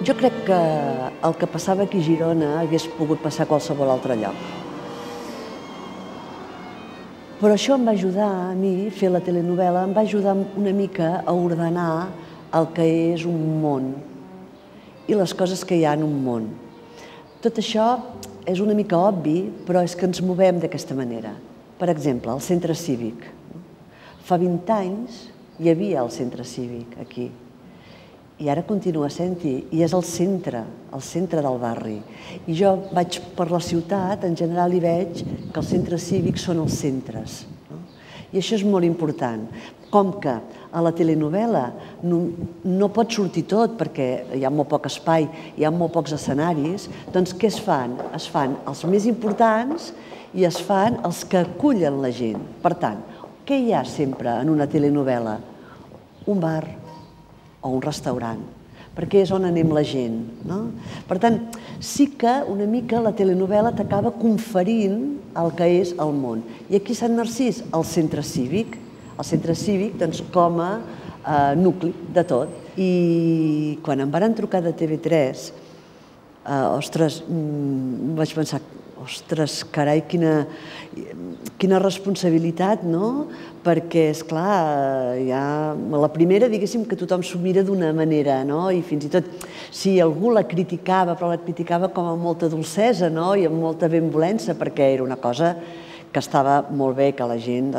Jo crec que el que passava aquí a Girona hagués pogut passar a qualsevol altre lloc. Però això em va ajudar a mi, fer la telenovel·la, em va ajudar una mica a ordenar el que és un món i les coses que hi ha en un món. Tot això és una mica obvi, però és que ens movem d'aquesta manera. Per exemple, el centre cívic. Fa 20 anys hi havia el centre cívic aquí. I ara continua sent-hi, i és el centre del barri. I jo vaig per la ciutat, en general hi veig que els centres cívics són els centres. I això és molt important. Com que a la telenovel·la no pot sortir tot perquè hi ha molt poc espai, hi ha molt pocs escenaris, doncs què es fan? Es fan els més importants i es fan els que acullen la gent. Per tant, què hi ha sempre en una telenovel·la? Un bar o un restaurant, perquè és on anem la gent. Per tant, sí que una mica la telenovel·la t'acaba conferint el que és el món. I aquí a Sant Narcís, el centre cívic, com a nucli de tot. I quan em varen trucar de TV3, ostres, vaig pensar, ostres, carai, quina responsabilitat, no? Perquè, esclar, la primera, diguéssim, que tothom s'ho mira d'una manera, no? I fins i tot, si algú la criticava, però la criticava com amb molta dolcesa, no? I amb molta benvolença, perquè era una cosa que estava molt bé, que la gent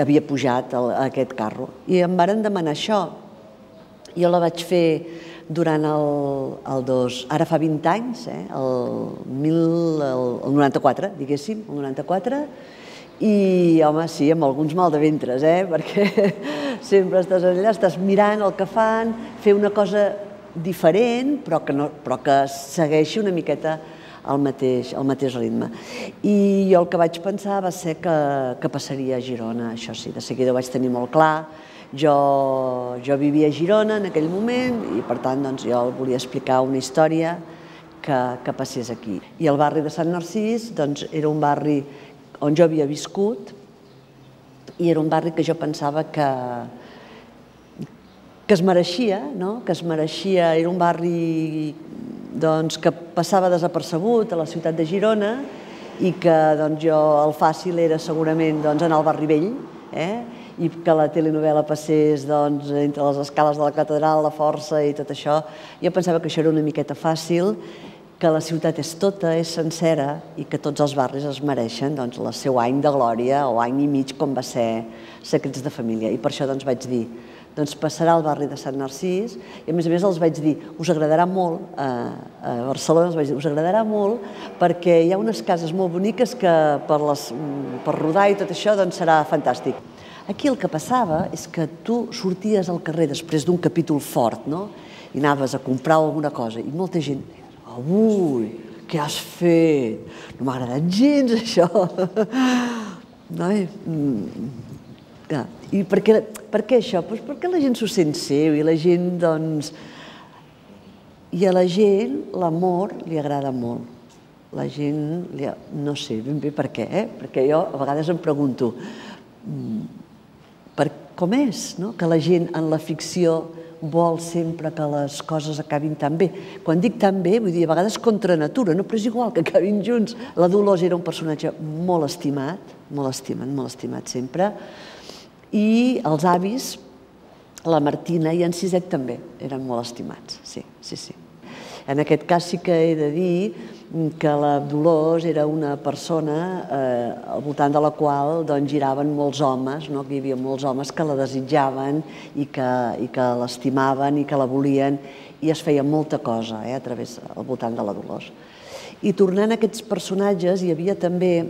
havia pujat a aquest carro. I em varen demanar això. Jo la vaig fer durant ara fa 20 anys, el 94, diguéssim, el 94, i, home, sí, amb alguns mal de ventres, perquè sempre estàs allà, estàs mirant el que fan, fer una cosa diferent, però que segueixi una miqueta el mateix ritme. I jo el que vaig pensar va ser que passaria a Girona, això sí, de seguida ho vaig tenir molt clar. Jo vivia a Girona en aquell moment i, per tant, jo volia explicar una història que passés aquí. I el barri de Sant Narcís era un barri on jo havia viscut i era un barri que jo pensava que es mereixia, era un barri que passava desapercebut a la ciutat de Girona i que el fàcil era segurament anar al barri vell, i que la telenovel·la passés entre les escales de la catedral, la Força i tot això. Jo pensava que això era una miqueta fàcil, que la ciutat és tota, és sencera i que tots els barris es mereixen el seu any de glòria o any i mig com va ser Secrets de família. I per això vaig dir, passarà al barri de Sant Narcís i a més els vaig dir, us agradarà molt, a Barcelona us vaig dir, us agradarà molt perquè hi ha unes cases molt boniques que per rodar i tot això serà fantàstic. Aquí el que passava és que tu sorties al carrer després d'un capítol fort, i anaves a comprar alguna cosa i molta gent deia, ui, què has fet? No m'ha agradat gens això. I per què això? Perquè la gent s'ho sent seu i la gent, i a la gent l'amor li agrada molt. La gent, no sé ben bé per què, perquè jo a vegades em pregunto com és que la gent en la ficció vol sempre que les coses acabin tan bé. Quan dic tan bé, vull dir, a vegades contra natura, però és igual que acabin junts. La Dolors era un personatge molt estimat, molt estimat sempre, i els avis, la Martina i en Siset també, eren molt estimats, sí. En aquest cas sí que he de dir que la Dolors era una persona al voltant de la qual giraven molts homes, que hi havia molts homes que la desitjaven i que l'estimaven i que la volien i es feia molta cosa al voltant de la Dolors. I tornant a aquests personatges, hi havia també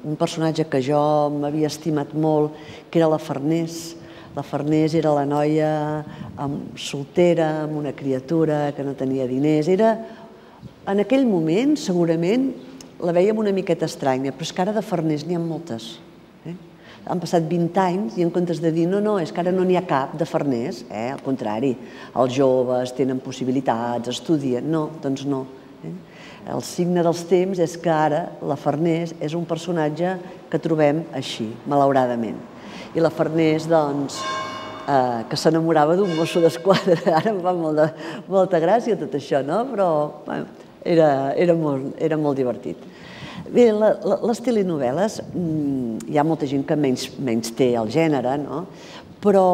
un personatge que jo m'havia estimat molt, que era la Farners. La Farners era la noia soltera, amb una criatura que no tenia diners. En aquell moment, segurament, la vèiem una miqueta estranya, però és que ara de Farners n'hi ha moltes. Han passat 20 anys i en comptes de dir no, és que ara no n'hi ha cap de Farners, al contrari, els joves tenen possibilitats, estudien, no, doncs no. El signe dels temps és que ara la Farners és un personatge que trobem així, malauradament. I la Farners, que s'enamorava d'un mosso d'esquadra. Ara em fa molta gràcia tot això, no? Però era molt divertit. Bé, les telenovel·les, hi ha molta gent que menys té el gènere, no? Però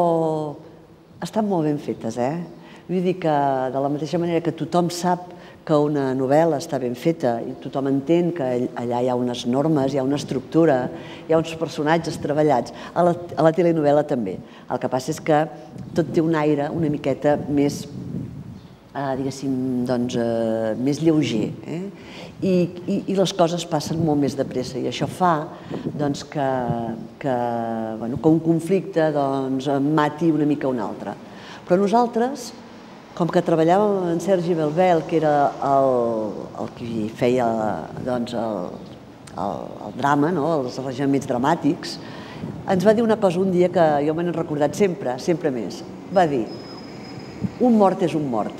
estan molt ben fetes, Vull dir que de la mateixa manera que tothom sap que una novel·la està ben feta i tothom entén que allà hi ha unes normes, hi ha una estructura, hi ha uns personatges treballats, a la telenovel·la també. El que passa és que tot té un aire una miqueta més, diguéssim, doncs, més lleuger, i les coses passen molt més de pressa i això fa que un conflicte mati una mica un altre. Però nosaltres, com que treballàvem amb en Sergi Belbel, que era el qui feia el drama, els arranjaments dramàtics, ens va dir una cosa un dia que jo me n'he recordat sempre més. Va dir: un mort és un mort.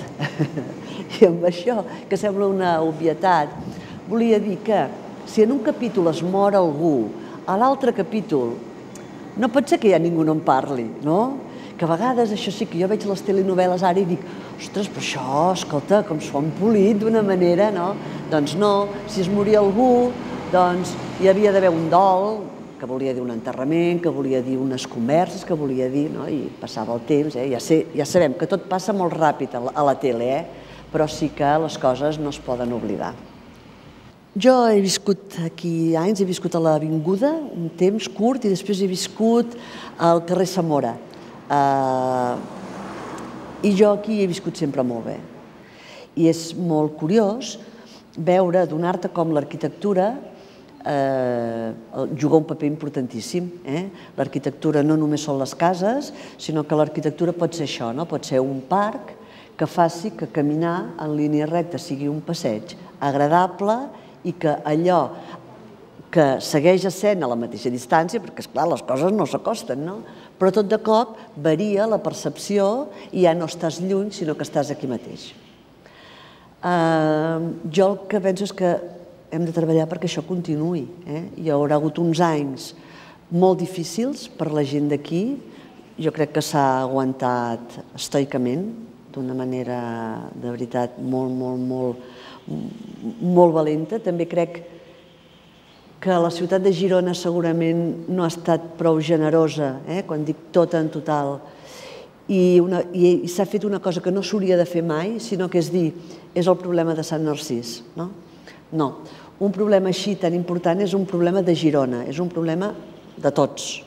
I amb això, que sembla una obvietat, volia dir que si en un capítol es mor algú, a l'altre capítol no pot ser que ja ningú no en parli, no? Que a vegades, això sí, que jo veig les telenovel·les ara i dic: ostres, però això, escolta, com s'ho han polit d'una manera, no? Doncs no, si es moria algú, doncs hi havia d'haver un dol, que volia dir un enterrament, que volia dir unes converses, que volia dir, no? I passava el temps, ja sabem que tot passa molt ràpid a la tele, però sí que les coses no es poden oblidar. Jo he viscut aquí anys, he viscut a l'Avinguda un temps curt i després he viscut al carrer Zamora. I jo aquí he viscut sempre molt bé. I és molt curiós veure, adonar-te com l'arquitectura juga un paper importantíssim. L'arquitectura no només són les cases, sinó que l'arquitectura pot ser això, pot ser un parc que faci que caminar en línia recta sigui un passeig agradable i que allò que segueix essent a la mateixa distància, perquè, esclar, les coses no s'acosten, no? Però tot de cop varia la percepció i ja no estàs lluny, sinó que estàs aquí mateix. Jo el que penso és que hem de treballar perquè això continuï. Hi haurà hagut uns anys molt difícils per la gent d'aquí. Jo crec que s'ha aguantat estoicament, d'una manera, de veritat, molt valenta. També crec que la ciutat de Girona segurament no ha estat prou generosa, quan dic tot en total, i s'ha fet una cosa que no s'hauria de fer mai, sinó que és dir, és el problema de Sant Narcís. No, un problema així tan important és un problema de Girona, és un problema de tots,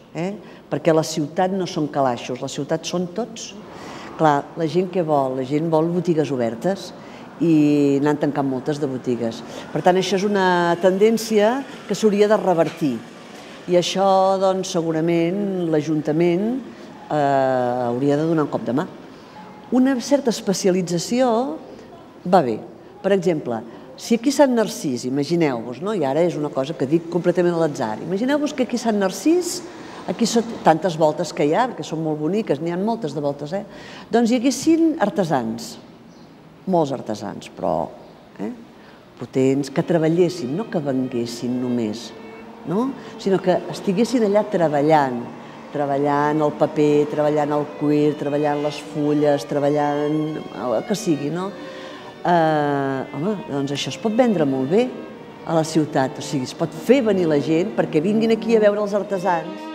perquè la ciutat no són calaixos, la ciutat són tots. Clar, la gent què vol? La gent vol botigues obertes, i n'han tancat moltes de botigues. Per tant, això és una tendència que s'hauria de revertir. I això, doncs, segurament l'Ajuntament hauria de donar un cop de mà. Una certa especialització va bé. Per exemple, si aquí a Sant Narcís, imagineu-vos, i ara és una cosa que dic completament a l'atzar, imagineu-vos que aquí a Sant Narcís, aquí són tantes voltes que hi ha, perquè són molt boniques, n'hi ha moltes de voltes, doncs hi haguessin artesans, molts artesans, però potents, que treballessin, no que venguessin només, sinó que estiguessin allà treballant el paper, treballant el cuir, treballant les fulles, treballant el que sigui, home, doncs això es pot vendre molt bé a la ciutat, o sigui, es pot fer venir la gent perquè vinguin aquí a veure els artesans.